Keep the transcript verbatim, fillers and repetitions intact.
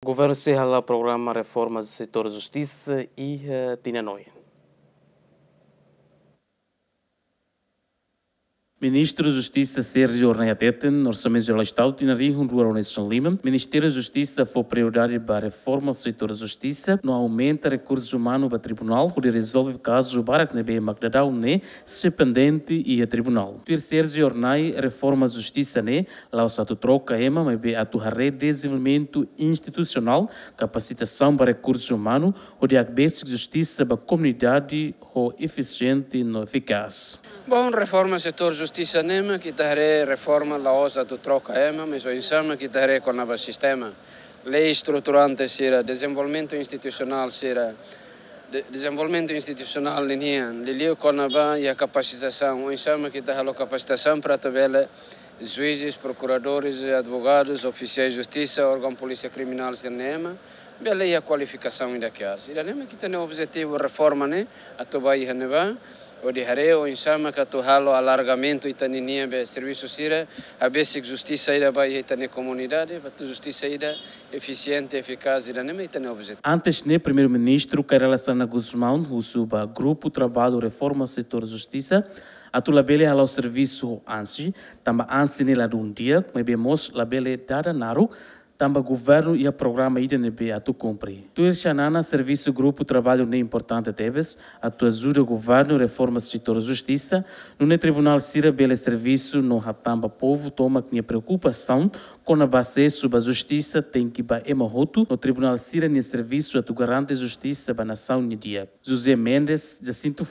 Governu sei hala'o programa reforma setór justisa iha tinan oin. Ministru Justisa Sérgio Hornai hateten, Orsamentu Jerál Estadu tinan rihun rua ruanulu-resin-lima, Ministériu Justisa fó prioridade ba reforma setór justisa, no aumenta rekursu umanu ba tribunál, hodi rezolve kazu barak ne'ebé mak daudaun ne'e sei pendente iha tribunál. Tuir Sérgio Hornai, reforma justisa ne'e la'ós atu troka ema, maibé atu haree dezenvolvimentu institusionál, kapasitasaun ba rekursu umanu, hodi hakbesik justisa ba komunidade ho efisiente no efikás. Bom, reforma setór justisa ne'e mak ita haree reforma la'ós atu troka ema, mas oinsá mak ita haree kona-ba sistema, lei estruturante sira, dezenvolvimentu institusionál sira, de-, dezenvolvimentu institusionál ninian, liuliu kona-ba iha kapasitasaun, oinsá mak ita halo kapasitasaun para atu bele juízes, prokuradores, advogados, ofisiais justisa, órgaun polísia kriminál sira-ne'e ema bele iha kualifikasaun ida kedas. Ida-ne'e mak ita-nia objetivu reforma ne'e, atu bá iha ne'ebá, hodi haree oinsá mak atu halo alargamentu ita-ninia be servisu sira, hakbesik justisa ida ba iha ita-nia komunidade, atu justisa ida efisiente, efikás, ida-ne'e mak ita-nia objetivu. Antes ne'e, Primeiru-Ministru Kay Rala Xanana Gusmão husu ba grupu traballu reforma setór justisa atu labele hala'o servisu ho ansi, tanba ansi ne'e ladún di'ak, maibé mós labele dada naruk, tanba governu iha programa ida ne'ebé atu kumpre. Tuir Xanana, servisu grupu traballu ne'e importante tebes, atu ajuda governu reforma setór justisa, nune'e tribunál sira bele servisu no hatán ba povu tomak nia preokupasaun kona-ba asesu ba justisa tenke ba ema hotu, no tribunál sira-nia servisu atu garante justisa ba nasaun nia di'ak. José Mendes, Jacinto